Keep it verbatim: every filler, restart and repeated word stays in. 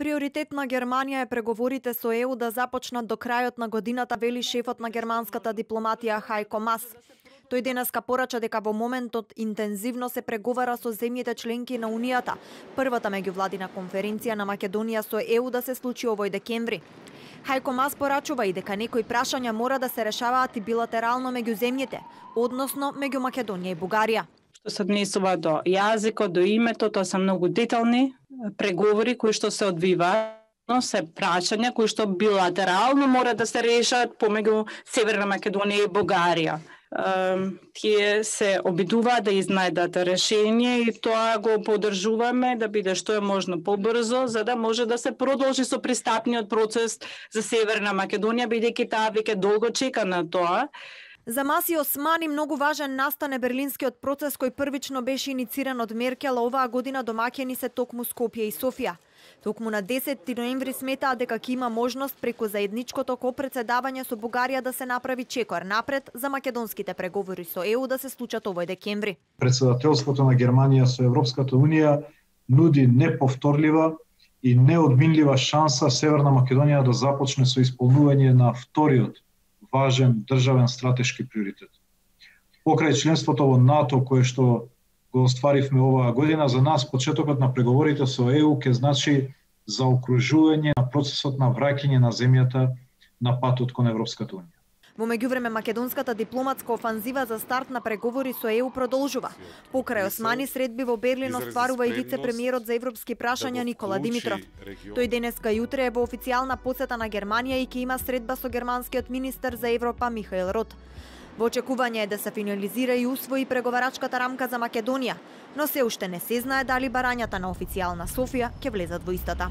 Приоритет на Германија е преговорите со Е У да започнат до крајот на годината, вели шефот на германската дипломатија Хајко Мас. Тој денеска порача дека во моментот интензивно се преговара со земјите членки на Унијата. Првата меѓувладина конференција на Македонија со Е У да се случи овој декември. Хајко Мас порачува и дека некои прашања мора да се решаваат и билатерално меѓу земјите, односно меѓу Македонија и Бугарија. Што се однесува до јазикот, до името, тоа се многу детални преговори кои што се одвиваат, но се прашања кои што билатерално мора да се решат помеѓу Северна Македонија и Бугарија. Тие се обидуваат да изнајдат решение и тоа го поддржуваме да биде што е можно побрзо, за да може да се продолжи со пристапниот процес за Северна Македонија, бидејќи таа веќе долго чека на тоа. За Маси Османи многу важен настане берлинскиот процес кој првично беше инициран од Меркел, а оваа година домаќини се токму Скопје и Софија. Токму на десети ноември сметаат дека ќе има можност преку заедничкото копредседавање со Бугарија да се направи чекор напред за македонските преговори со Е У да се случат овој декември. Председателството на Германија со Европската Унија нуди неповторлива и неодминлива шанса Северна Македонија да започне со исполнување на вториот важен државен стратешки приоритет. Покрај членството во НАТО, кое што го остваривме оваа година, за нас почетокот на преговорите со Е У ќе значи заокружување на процесот на враќање на земјата на патот кон Европската Унија. Во меѓувреме македонската дипломатска офанзива за старт на преговори со Е У продолжува. Покрај Османи средби во Берлин остварува и вице-премиерот за европски прашања Никола Димитров. Тој денеска и утре е во официјална посета на Германија и ќе има средба со германскиот министер за Европа Михаел Рот. Во очекување е да се финализира и усвои преговарачката рамка за Македонија, но се уште не се знае дали барањата на официјална Софија ќе влезат во истата.